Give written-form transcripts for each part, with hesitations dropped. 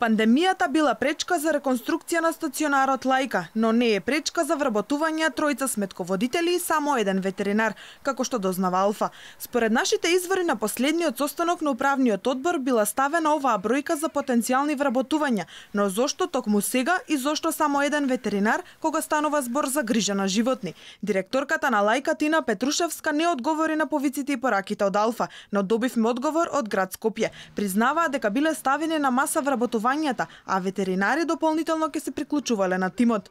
Пандемијата била пречка за реконструкција на стационарот Лајка, но не е пречка за вработување тројца сметководители и само еден ветеринар, како што дознава Алфа. Според нашите извори на последниот состанок на управниот одбор била ставена оваа бројка за потенцијални вработувања, но зошто токму сега и зошто само еден ветеринар кога станува збор за грижа на животни? Директорката на Лајка Тина Петрушевска не одговори на повиците и пораките од Алфа, но добивме одговор од град Скопје. Признаваа дека биле ставени на маса вработувањата, а ветеринари дополнително ќе се приклучувале на тимот.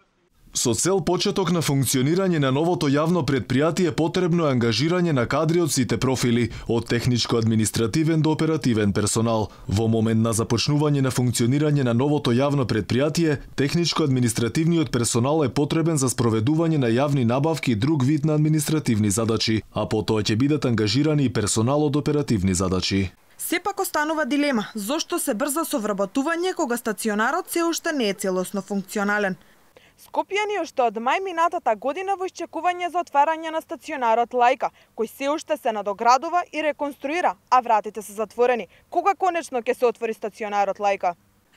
Со цел почеток на функционирање на новото јавно предпријатие потребно е ангажирање на кадри од сите профили, од техничко-административен до оперативен персонал. Во момент на започнување на функционирање на новото јавно предпријатие, техничко-административниот персонал е потребен за спроведување на јавни набавки и друг вид на административни задачи, а потоа ќе бидат ангажирани и персонал од оперативни задачи. Сепак останува дилема, зошто се брза со вработување кога стационарот се уште не е целосно функционален. Скопјани уште од мај минатата година во исчекување за отварање на стационарот Лајка, кој се уште се надоградува и реконструира, а вратите се затворени. Кога конечно ќе се отвори стационарот Лајка?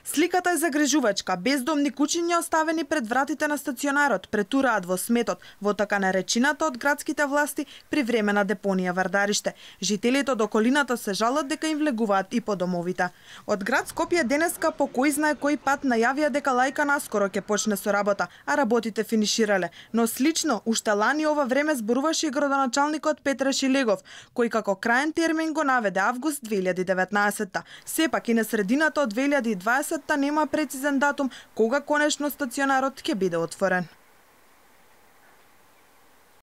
Сликата е загрижувачка. Бездомни кучиња оставени пред вратите на стационарот претураат во сметот, во така наречената од градските власти привремена депонија Вардариште. Жителите од околината се жалат дека им влегуваат и по домовите. Од град Скопје денеска по кој знае кој пат најавија дека Лајка наскоро ќе почне со работа, а работите финиширале. Но слично, уште лани ова време зборуваше и градоначалникот Петре Шилегов, кој како краен термин го наведе август 2019. Сепак и на средината од 2020 нема прецизен датум кога конечно стационарот ќе биде отворен.